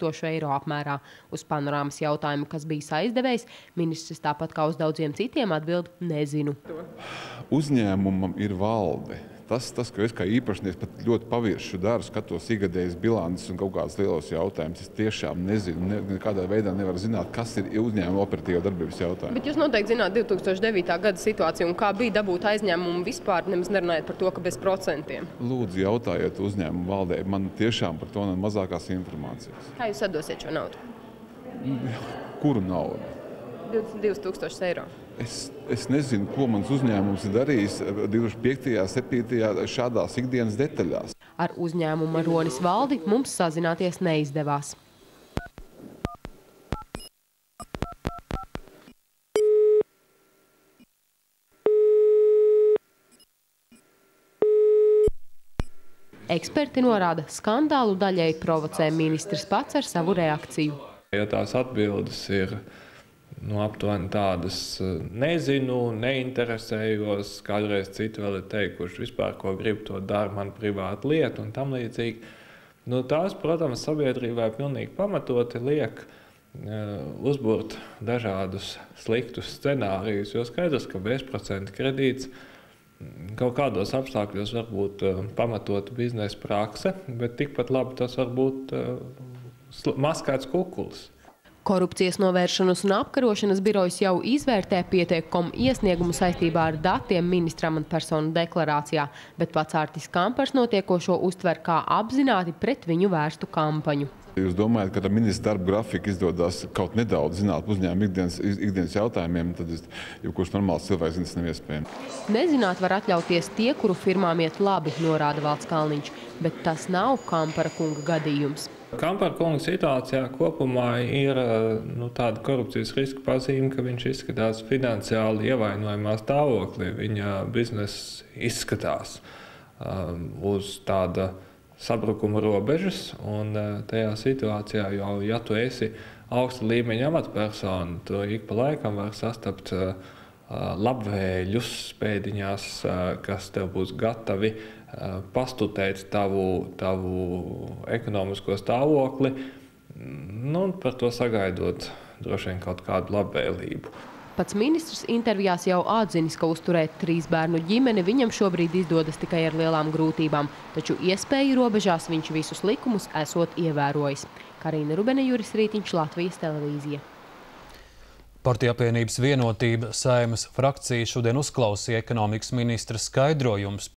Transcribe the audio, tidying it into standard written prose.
1000 eiro apmērā. Uz panorāmas jautājumu, kas bijis aizdevējs, ministrs tāpat kā uz daudziem citiem atbild nezinu. Uzņēmumam ir valde. Tas, ka es kā īpašnieks pat ļoti paviršu daru, skatos ikgadējas bilances un kaut kādas lielos jautājumus. Es tiešām nezinu, nekādā veidā nevaru zināt, kas ir uzņēmuma operatīva darbības jautājumi. Bet jūs noteikti zināt 2009. gada situāciju un kā bija dabūt aizņēmumu vispār, nemaz nerunājot par to, ka bez procentiem. Lūdzu, jautājiet uzņēmumu valdē. Man tiešām par to nav mazākās informācijas. Kā jūs atdosiet šo naudu? Kuru naudu? 22 000 eiro. Es nezinu, ko mans uzņēmums ir darījis 2005. 2007. šādās ikdienas detaļās. Ar uzņēmuma Ronis valdi mums sazināties neizdevās. Eksperti norāda, skandālu daļai provocē ministrs pats ar savu reakciju. Ja tās atbildes ir aptuveni tādas nezinu, neinteresējos, kādreiz citi vēl ir teikuši, vispār, ko grib, to dara man privāta lieta un tam līdzīgi. Tās, protams, sabiedrībai pilnīgi pamatoti liek uzburt dažādus sliktus scenārijus, jo skaidrs, ka bezprocenta kredīts kaut kādos apstākļos var būt pamatota biznesa prakse, bet tikpat labi tas var būt maskēts kukulis. Korupcijas novēršanas un apkarošanas birojas jau izvērtē pieteikumu iesniegumu saistībā ar datiem ministram un personu deklarācijā, bet pats Artis Kampars notiekošo uztver kā apzināti pret viņu vērstu kampaņu. Jūs domājat, ka ar ministra darba grafiku izdodas kaut nedaudz zināt uzņēmuma ikdienas jautājumiem, tad jebkurš normāls cilvēks zina, tas nav iespējams. Nezināt var atļauties tie, kuru firmām iet labi, norāda Valds Kalniņš, bet tas nav Kampara kunga gadījums. Kampara kunga situācijā kopumā ir tāda korupcijas riska pazīme, ka viņš izskatās finansiāli ievainojamā stāvoklī. Viņa bizness izskatās uz tāda sabrukuma robežas, un tajā situācijā jau, ja tu esi augsta līmeņa amatpersona, tu ik pa laikam var sastapt labvēļus pēdiņās, kas tev būs gatavi pastutēt tavu ekonomisko stāvokli, par to sagaidot droši vien kaut kādu labvēlību. Pats ministrs intervijās jau atzinis, ka uzturēt 3 bērnu ģimeni viņam šobrīd izdodas tikai ar lielām grūtībām, taču iespēju robežās viņš visus likumus esot ievērojis. Karina Rubene, Juris Rītiņš, Latvijas televīzija. Partiju apvienības Vienotība Saeimas frakcija šodien uzklausīja ekonomikas ministra skaidrojumus